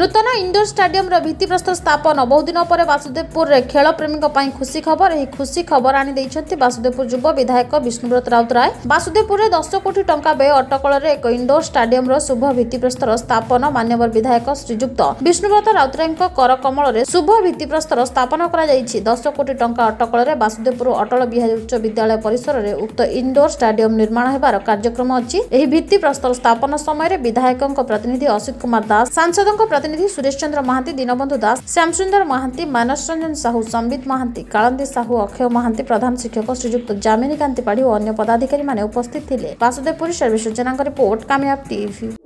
ନୂତନ ଇଣ୍ଡୋର ଷ୍ଟାଡିୟମର ଭିତ୍ତିପ୍ରସ୍ତର ସ୍ଥାପନ। ବହୁଦିନ ପରେ ବାସୁଦେବପୁରରେ ଖେଳ ପ୍ରେମୀଙ୍କ ପାଇଁ ଖୁସି ଖବର। ଏହି ଖୁସି ଖବର ଆଣି ଦେଇଛନ୍ତି ବାସୁଦେବପୁର ଯୁବ ବିଧାୟକ ବିଷ୍ଣୁବ୍ରତ ରାଉତରାୟ। ବାସୁଦେବପୁରରେ 10 କୋଟି ଟଙ୍କା ବ୍ୟୟ ଅଟକଳରେ ଏକ ଇଣ୍ଡୋର ଷ୍ଟାଡିୟମର ଶୁଭ ଭିତ୍ତିପ୍ରସ୍ତର ସ୍ଥାପନ ମାନ୍ୟବର ବିଧାୟକ ଶ୍ରୀଯୁକ୍ତ ବିଷ୍ଣୁବ୍ରତ ରାଉତରାୟଙ୍କ କରକମଳରେ ଶୁଭ ଭିତ୍ତିପ୍ରସ୍ତର ସ୍ଥାପନ କରାଯାଇଛି। 10 କୋଟି ଟଙ୍କା ଅଟକଳରେ ବାସୁଦେବପୁର ଅଟଳ ବିହାରୀ ଉଚ୍ଚ ବିଦ୍ୟାଳୟ ପରିସରରେ ଉକ୍ତ ଇଣ୍ଡୋର ଷ୍ଟାଡିୟମ ନିର୍ମାଣ ହେବାର କାର୍ଯ୍ୟକ୍ରମ ଅଛି। ଏହି ଭିତ୍ତିପ୍ରସ୍ତର ସ୍ଥାପନ ସମୟରେ ବିଧାୟକଙ୍କ ପ୍ରତିନିଧି ଅସିତ କୁମାର ଦାସ, ସାଂସଦଙ୍କ ପ୍ରତିନିଧି ସୁରେଶ ଚନ୍ଦ୍ର ମହାନ୍ତି, ଦୀନବନ୍ଧୁ ଦାସ, ଶ୍ୟାମସୁନ୍ଦର ମହାନ୍ତି, ମାନସ ରଞ୍ଜନ ସାହୁ, ସମ୍ବିତ ମହାନ୍ତି, କାଳନ୍ଦୀ ସାହୁ, ଅକ୍ଷୟ ମହାନ୍ତି, ପ୍ରଧାନ ଶିକ୍ଷକ ଶ୍ରୀଯୁକ୍ତ ଯାମିନୀକାନ୍ତି ପାଢ଼ୀ ଓ ଅନ୍ୟ ପଦାଧିକାରୀମାନେ ଉପସ୍ଥିତ ଥିଲେ। ବାସୁଦେବପୁର ସର୍ବେଶ୍ୱର ଜେନାଙ୍କ ରିପୋର୍ଟ, କାମିୟାବ ଟିଭି।